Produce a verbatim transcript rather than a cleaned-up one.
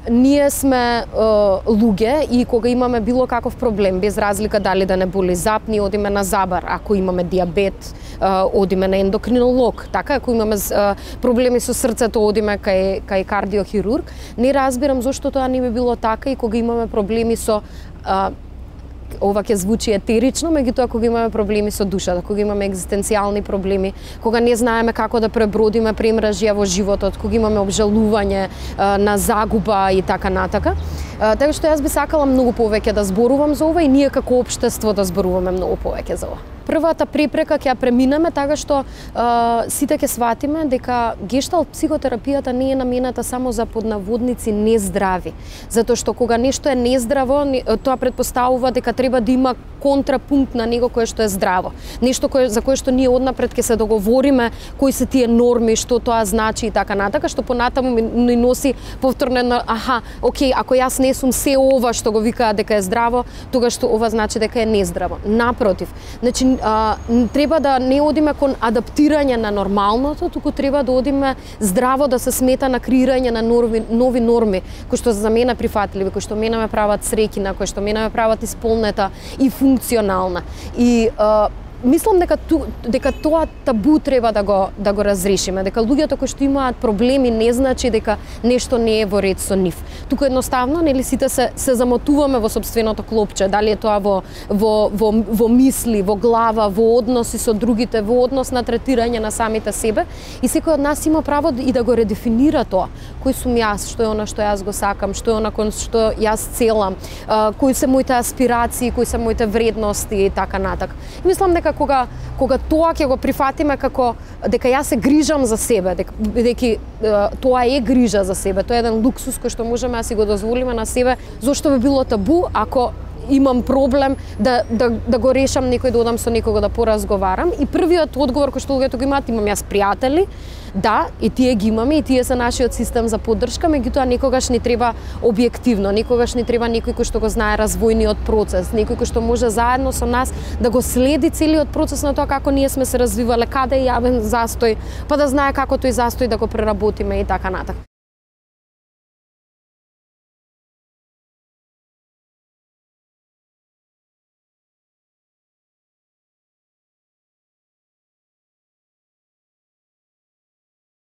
ние сме е, луѓе и кога имаме било каков проблем, без разлика дали да не боли зап, ние одиме на забар. Ако имаме диабет, е, одиме на ендокринолог. Така, ако имаме е, проблеми со срцето, одиме кај, кај кардиохирург. Не разбирам зошто тоа не би било така и кога имаме проблеми со е, ова ќе звучи етерично, меѓутоа кога имаме проблеми со душата, кога имаме екзистенцијални проблеми, кога не знаеме како да пребродиме премражија во животот, кога имаме обжалување на загуба и така натака. Така што јас би сакала многу повеќе да зборувам за ова и ние како општество да зборуваме многу повеќе за ова. Првата препрека ќе ја преминеме така што е, сите ќе сватиме дека гешталт психотерапијата не е намената само за поднаводници нездрави, затоа што кога нешто е нездраво, тоа претпоставува дека треба да има контрапункт на него кое што е здраво. Нешто кое, за кое што ние однапред ќе се договориме кои се тие норми, што тоа значи и така натака, што понатаму ни носи повторно на аха, окей, ако јас не сум се ова што го викаат дека е здраво, тогаш што ова значи дека е нездраво. Напротив, значи а, треба да не одиме кон адаптирање на нормалното, туку треба да одиме здраво да се смета на креирање на нови, нови норми, кои што за мене прифатливи, кои што мене ме прават среќна, кои што мене ме прават исполнета и функционална. И а, мислам дека ту, дека тоа табу треба да го да го разрешиме, дека луѓето кои што имаат проблеми не значи дека нешто не е во ред со нив. Туку едноставно нели сите се се замотуваме во сопственото клопче, дали е тоа во во во во мисли, во глава, во односи со другите, во однос на третирање на самите себе и секој од нас има право и да го редефинира тоа. Кој сум јас, што е она што јас го сакам, што е она кон што јас целам, кои се моите аспирации, кои се моите вредности и така натака. И мислам дека кога кога тоа ќе го прифатиме како дека јас се грижам за себе, дека бидејќи тоа е грижа за себе, тоа е еден луксус кој што можеме да си го дозволиме на себе, зошто би било табу ако имам проблем да, да, да го решам некој, да одам со некого да поразговарам. И првиот одговор кој што луѓето го имаат, имам јас пријатели, да, и тие ги имаме, и тие се нашиот систем за поддршка, меѓутоа некогаш ни треба објективно, некогаш ни треба некој кој што го знае развојниот процес, некој кој што може заедно со нас да го следи целиот процес на тоа како ние сме се развивале, каде е јавен застој, па да знае како тој застој да го преработиме и така натаму.